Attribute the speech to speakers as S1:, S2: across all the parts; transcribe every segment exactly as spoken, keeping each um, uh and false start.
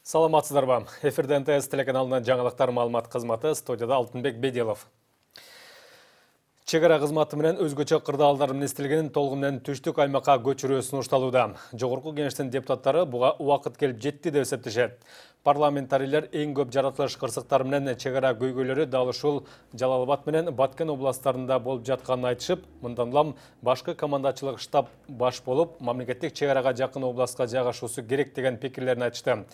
S1: Саламатсыздарбы. Эфирде эн тэ эс телеканалынын жаңылыктар маалымат кызматы, студияда Алтынбек Бедилов. Чегара кызматы менен өзгөчө кырдаалдар министрлигинин толугу менен түштүк аймакка көчүрүү сунушталууда. Жогорку кеңештин депутаттары буга убакыт келип жетти деп эсептешет. Парламентарийлер эң көп жаратылыш кырсыктары менен чегара көйгөйлөрү дал ушул Жалал-Абад менен Баткен областтарында болуп жатканын айтышып, мындан улам башкы командачылык штаб баш болуп, мамлекеттик чегарага жакын областка жайгашуусу керек деген пикирлерин айтышты.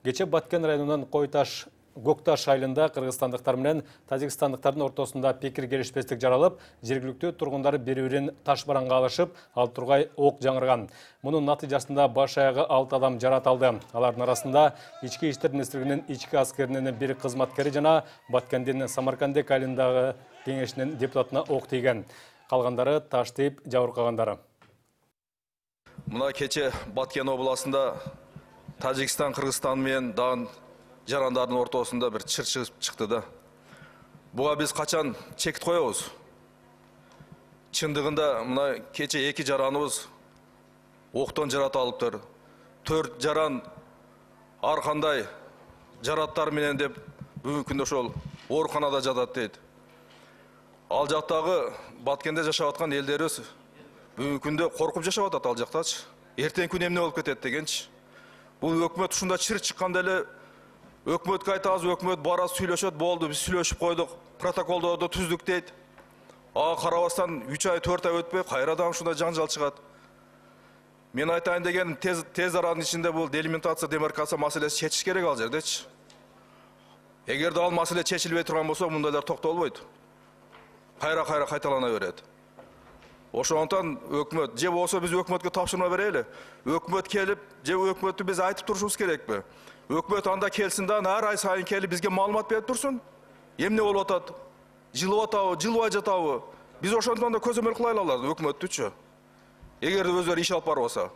S1: Кече Баткен районунун Койташ Гокташ айылында кыргызстандыктар менен тажикстандыктардын ортосунда пикир келишпестик жаралып, жергиликтүү тургундар бири-бирин таш бараңга алышып, ал тургай ок жаңырган. Мунун натыйжасында баш аягы алты адам жарат алды. Алардын арасында Ички иштер министрлигинин ички аскеринин бир кызматкери жана Баткендин Самаркандек айылындагы кеңешинин депутатына ок тийген. Калгандары таш тийип жабыркагандары.
S2: Мына кече Баткен областында Тажикстан, Кыргызстан менен дагы жарандардын ортосунда бир чыр чыгып чыкты да. Буга биз качан чекит коебуз? Чындыгында мына кече эки жараныбыз октон жарат алыптыр. Төрт жаран ар кандай жараттар менен деп бүгүнкү күндө ошол ооруканада жатат дейт. Ал жактагы Баткенде жашап аткан элдерибиз бүгүнкү күндө коркуп жашап атат ал жактачы. Эртең күн эмне болуп кетет дегенчи. Бул өкмөт ушунда чыр чыкканда эле өкмөткө айтабыз, өкмөт бара сүйлөшөт, болду, биз сүйлөшүп койдук, протоколдорду түздүк дейт. Ага карабастан үч ай, төрт ай өтпөй кайрадан ушундай жаңжал чыгат. Мен айтайын дегеним тез тез аранын ичинде бул делимитация, демаркация маселеси чечиш керек ал жердечи. Эгерде ал маселе чечилбей турган болсо, мындайлар токтолбойт. Кайра-кайра кайталана берет. Ошондон өкмөт же болсо биз өкмөткө тапшырма берели. Өкмөт келип, же өкмөттү биз айтып турушубуз керекпи? Өкмөт анда келсин да, ар ай сайын келип бизге маалымат берип турсун. Эмне болуп атат? Жылып атабы, жылбай жатабы? Биз ошондон да көзөмөл кылайлы аларды өкмөттүчү. Эгерде өздөр иш алып барбаса.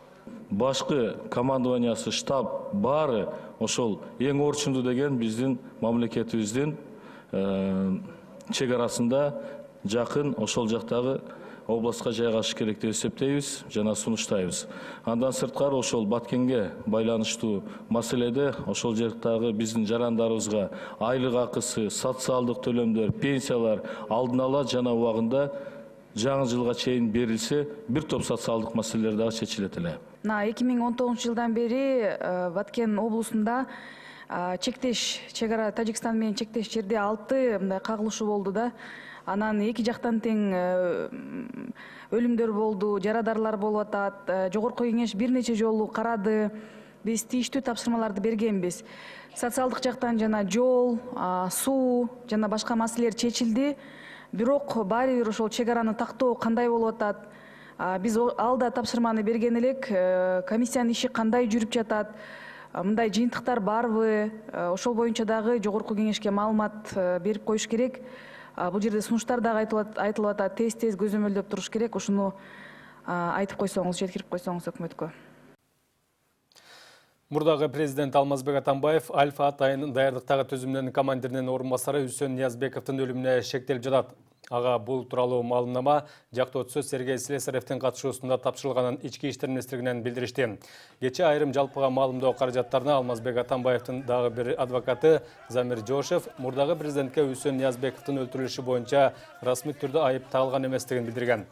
S3: Башкы командованиясы, штаб баары ошол эң орчундуу деген биздин мамлекетибиздин чегарасында жакын ошол жактагы областка жайгашыш керек деп эсептейбиз жана сунуштайбыз. Андан сырткары ошол Баткенге байланыштуу маселеде ошол жактагы биздин жарандарыбызга айлык акысы, социалдык төлөмдөр, пенсиялар алдын ала жана убагында жаңы жылга чейин берилсе, бир топ социалдык маселелер дагы чечилет эле.
S4: эки миң он тогузунчу жылдан бери Баткен облусунда чектеш чегара Тажикстан менен чектеш жерде алты мындай кагылышуу болду да. Анан эки жактан тең өлүмдөр болду, жарадарлар болуп атат. Жогорку кеңеш бир нече жолу карады. Биз тийиштүү тапшырмаларды бергенбиз. Социалдык жактан жана жол, суу жана башка маселелер чечилди. Бирок баары бир ошол чегараны тактоо кандай болуп атат? Биз алда тапшырманы берген элек. Комиссиянын иши кандай жүрүп жатат? Мындай жыйынтыктар барбы? Ошол боюнча дагы жогорку кеңешке маалымат берип коюш керек. Бул жерде сунуштар дагы айтылып атат, тез-тез көзөмөлдөп туруш керек. Ошону айтып койсоңуз, жеткирип койсоңуз өкмөткө.
S1: Мурдагы президент Алмазбек Атамбаев Альфа атайын даярдыктагы түзүмдүн командиринин орун басары Үсөн Ниязбековдун өлүмүнө шектелип жатат. Ага бул тууралуу маалымнама жактоочусу Сергей Слесаревдин катышуусунда тапшырылганын ички иштер министрлигинен билдиришти. Кече айрым жалпыга маалымдоо каражаттарына Алмазбек Атамбаевдин дагы бир адвокаты Замир Жошев мурдагы президентке Үсөн Ниязбековдун өлтүрүлүшү боюнча расмий түрдө айып тагылган эместигин билдирген.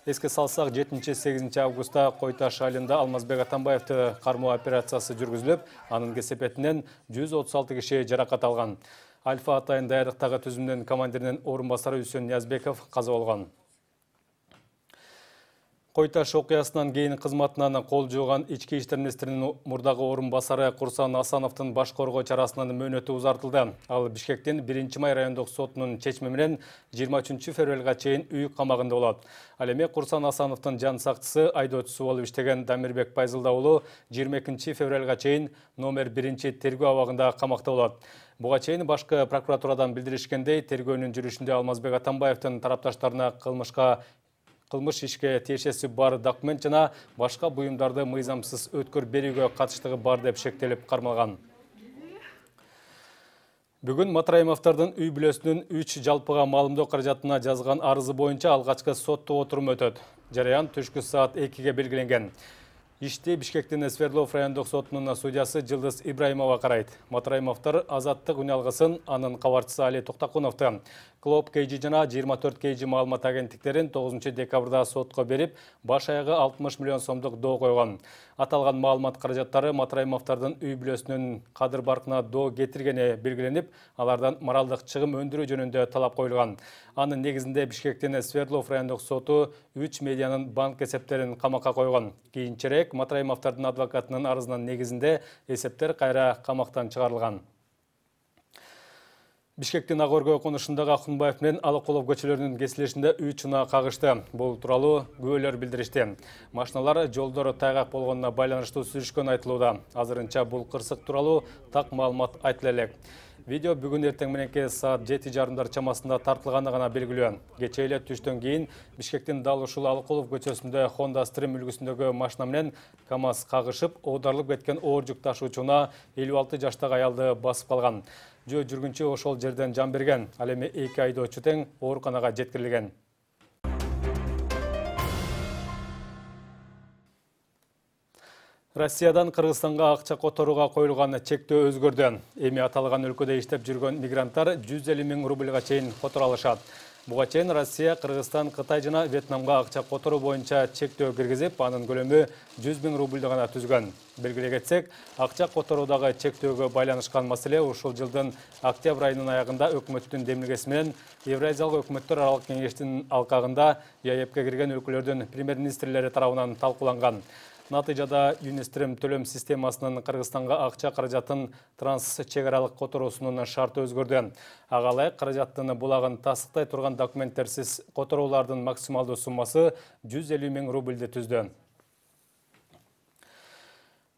S1: Эске салсак, жетинчи сегизинчи августта Койташ айылында Алмазбек Атамбаевди кармоо операциясы жүргүзүлүп, анын кесепетинен жүз отуз алты киши жаракат алган. Альфа атайын даярдыктагы түзүмдүн командиринин орун басары Үсөн Ниязбеков каза болгон. Койташ окуясынан кийин кызматынан кол жууган ички иштер министринин мурдагы орун басары Курсан Асановдун баш коргоо чарасынын мөөнөтү узартылды. Ал Бишкектин биринчи май райондук сотунун чечими менен жыйырма үчүнчү февралга чейин үй камагында болот. Ал эми Курсан Асановдун жан сакчысы, айдоочусу болуп иштеген Дамирбек Пайзылда уулу жыйырма экинчи февралга чейин номер биринчи тергөө абагында камакта болот. Буга чейин башкы прокуратурадан билдиришкендей, тергөөнүн жүрүшүндө Алмазбек Атамбаевдин тарапташтарына кылмышка кылмыш ишке тиешеси бар документ жана башка буюмдарды мыйзамсыз өткөр берүүгө катыштыгы бар деп шектелип кармалган. Бүгүн Матраимовдордун үй бүлөсүнүн үч жалпыга маалымдоо каражатына жазган арызы боюнча алгачкы соттук отурум өтөт. Жараян түшкү саат экиге белгиленген. Ишти Бишкектин Свердлов райондук сотунун судьясы Жылдыз Ибраимова карайт. Матраимовдор азаттык үналгысын анын кабарчысы Али Токтакуновду Клоп Кейжи жана жыйырма төрт Кейжи маалымат агенттиктерин тогузунчу декабрда сотко берип, баш аягы алтымыш миллион сомдук доо койгон. Аталган маалымат каражаттары Матраимовдордун үй бүлөсүнүн кадыр баркына доо кетиргени белгиленип, алардан моралдык чыгым өндүрүү жөнүндө талап коюлган. Анын негизинде Бишкектин Свердлов райондук соту үч медианын банк эсептерин камакка койгон. Кийинчерээк Матраимовдордун адвокатынын арызынын негизинде эсептер кайра камактан чыгарылган. Бишкектин Ак Өргө конушундагы Акунбаев менен Алыкулов көчөлөрүнүн кесилишинде үч унаа кагышты. Бул тууралуу күбөлөр билдиришти. Машиналар жолдор тайгак болгонуна байланыштуу сүзүшкөн айтылууда. Азырынча бул кырсык тууралуу так маалымат айтыла элек. Видео бүгүн эртең мененки саат жети жарымдар чамасында тартылганы гана белгилүү. Кечээ эле түштөн кийин Бишкектин дал ушул Алыкулов көчөсүндө Honda Stream үлгүсүндөгү машина менен КамАЗ кагышып, оодарылып кеткен оор жүк ташуучуна элүү алты жаштагы аялды басып калган. Жөө жүргүнчү ошол жерден жан берген. Ал эми эки айдоочу тең ооруканага жеткирилген. Россиядан Кыргызстанга акча которууга коюлган чектөө өзгөрдү. Эми аталган өлкөдө иштеп жүргөн мигранттар жүз элүү миң рубльга чейин которо алышат. Буга чейин Россия, Кыргызстан, Кытай жана Вьетнамга акча которуу боюнча чектөө киргизип, анын көлөмү жүз миң рубльды гана түзгөн. Белгилей кетсек, акча которуудагы чектөөгө байланышкан маселе ушул жылдын октябрь айынын аягында өкмөттүн демилгеси менен Евразиялык өкмөттөр аралык кеңештин алкагында ЕАЭПке кирген өлкөлөрдүн премьер-министрлери тарабынан талкууланган. Натыйжада Юнистрем төлөм системасынын Кыргызстанга акча каражатын транс-чек аралык которуусунун шарты өзгөрдү. Ага ылайык каражаттын булагын тасыктай турган документтерсиз которуулардын максималдуу суммасы жүз элүү миң рубльди түздү.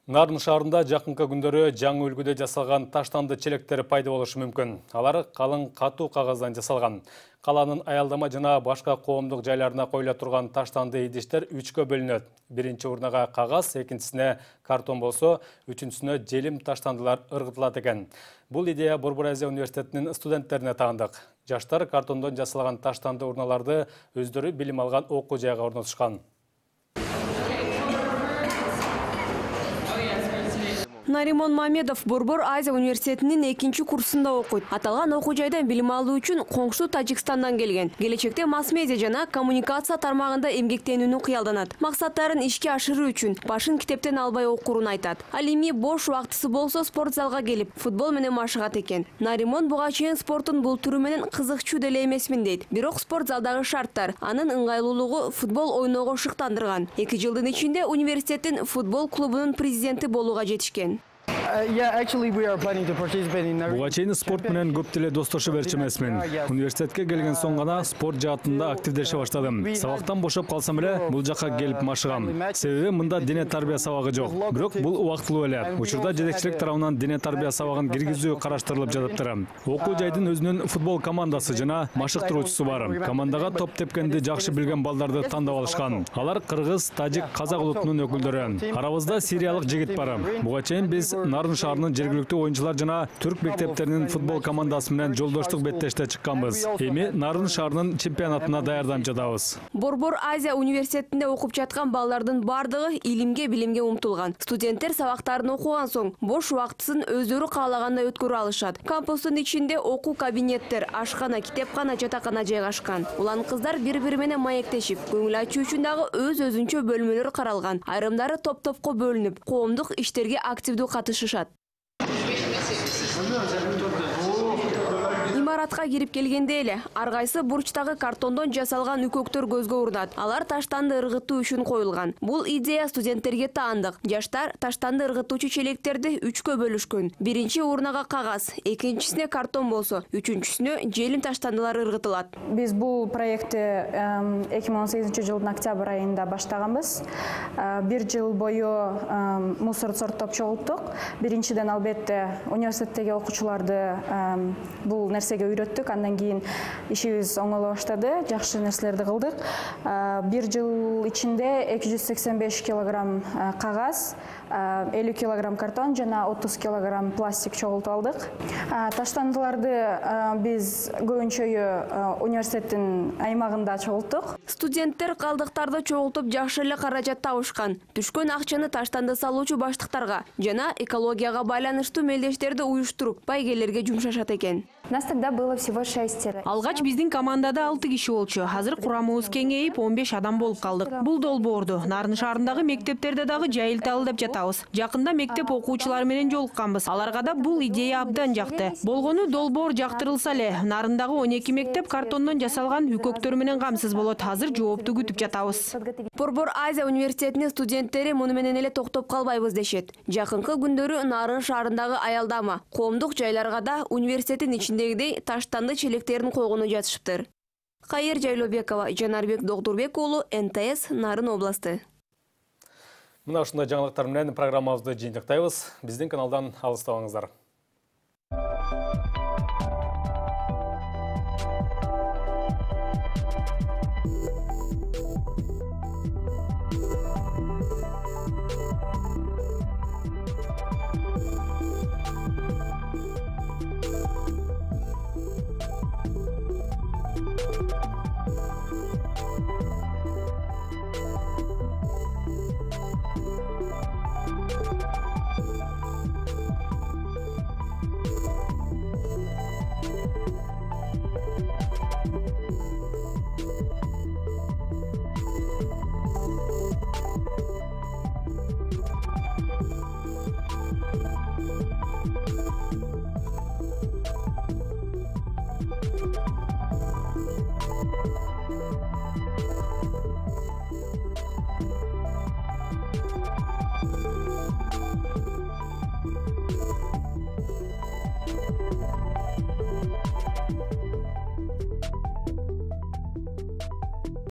S1: Нарын шаарында жакынкы күндөрү жаңы үлгүдө жасалган таштанды челектер пайда болушу мүмкүн. Алар калың катуу кагаздан жасалган. Каланын аялдама жана башка коомдук жайларына коюла турган таштанды идиштер үчкө бөлүнөт. Биринчи урнага кагаз, экинчисине картон болсо, үчүнчүсүнө желим таштандылар ыргытылат экен. Бул идея Борбор Азия университетинин студенттерине таандык. Жаштар картондон жасалган таштанды урналарды өздөрү билим алган окуу жайга орнотушкан.
S5: Наримон Мамедов Борбор Азия университетинин экинчи курсунда окуйт. Аталган окуу жайдан билим алуу үчүн коңшу Тажикстандан келген. Келечекте масс-медиа жана коммуникация тармагында эмгектенүүнү кыялданат. Максаттарын ишке ашыруу үчүн башын китептен албай окуурун айтат. Ал эми бош убактысы болсо спорт залга келип, футбол менен машыгат экен. Наримон буга чейин спорттун бул түрү менен кызыкчуу деле эмесмин дейт. Бирок спорт залдагы шарттар анын ыңгайлуулугу футбол ойноого шыктандырган. эки жылдын ичинде университеттин футбол клубунун президенти болууга жетишкен.
S6: Буга чейин спорт менен көп деле достошо берчү эмесмин. Университетке келген соң гана спорт жаатында активдеше баштадым. Сабактан бошоп калсам эле бул жакка келип машыгам. Себеби мында дене тарбия сабагы жок. Бирок бул убактылуу эле. Учурда жетекчилик тарабынан дене тарбия сабагын киргизүү караштырылып жатыптыр. Окуу жайдын өзүнүн футбол командасы жана машыктыруучусу бар. Командага топ тепкенди жакшы билген балдарды тандап алышкан. Алар кыргыз, тажик, казак улутунун өкүлдөрү. Арабызда сириялык жигит бар. Буга чейин биз Нарын шаарынын жергиликтүү оюнчулар жана түрк мектептеринин футбол командасы менен жолдоштук беттеште чыкканбыз. Эми Нарын шаарынын чемпионатына даярданып жатабыз.
S5: Борбор Азия университетинде окуп жаткан балдардын бардыгы илимге, билимге умтулган. Студенттер сабактарын окуган соң бош убактысын өздөрү каалагандай өткөрө алышат. Кампустун ичинде окуу кабинеттер, ашкана, китепкана, жатакана жайгашкан. Улан кыздар бири-бири менен маектешип, көңүл ачуу үчүн дагы өз-өзүнчө бөлмөлөр каралган. Айрымдары топ-топко бөлүнүп, коомдук иштерге активдүү катышышат. Имаратка кирип келгенде эле ар кайсы бурчтагы картондон жасалган үкөктөр көзгө урунат. Алар таштанды ыргытуу үчүн коюлган. Бул идея студенттерге таандык. Жаштар таштанды ыргытуучу челектерди үчкө бөлүшкөн. Биринчи урнага кагаз, экинчисине картон болсо, үчүнчүсүнө желим таштандылар ыргытылат.
S7: Биз бул проектти эки миң он сегизинчи жылдын октябрь айында баштаганбыз. Бир жыл бою мусор сорттоп чогулттук. Биринчиден албетте университеттеги окуучуларды бул нерсеге эле үйрөттүк. Андан кийин ишибиз оңоло баштады, жакшы нерселерди кылдык. Бир жыл ичинде эки жүз сексен беш килограмм кагаз, элүү килограмм картон жана отуз килограмм пластик чогултуп алдык. Таштандыларды биз көбүнчөйү университеттин аймагында чогулттук.
S5: Студенттер калдыктарды чогултуп жакшы эле каражат табышкан. Түшкөн акчаны таштанды салуучу баштыктарга жана экологияга байланыштуу мелдештерди уюштуруп байгелерге жумшашат экен.
S7: Нас тогда было всего шестеро.
S8: Алгач биздин командада алты киши болчу. Азыр курамыбыз кеңейип он беш адам болуп калдык. Бул долбоорду Нарын шаарындагы мектептерде дагы жайылталы деп жатабыз. Жакында мектеп окуучулары менен жолукканбыз. Аларга да бул идея абдан жакты. Болгону долбоор жактырылса эле, Нарындагы он эки мектеп картондон жасалган үкөктөр менен камсыз болот. Азыр жоопту күтүп жатабыз.
S5: Борбор Азия университетинин студенттери муну менен эле токтоп калбайбыз дешет. Жакынкы күндөрү Нарын шаарындагы аялдама, коомдук жайларга да университеттин ичиндегидей таштанды челектерин койгону жатышыптыр. Кайыр Жайлообекова, Жанарбек Догдурбек уулу, эн тэ эс, Нарын областы.
S1: Мына ушундай жаңылыктар менен программабызды жыйынтыктайбыз. Биздин каналдан алыстабаңыздар.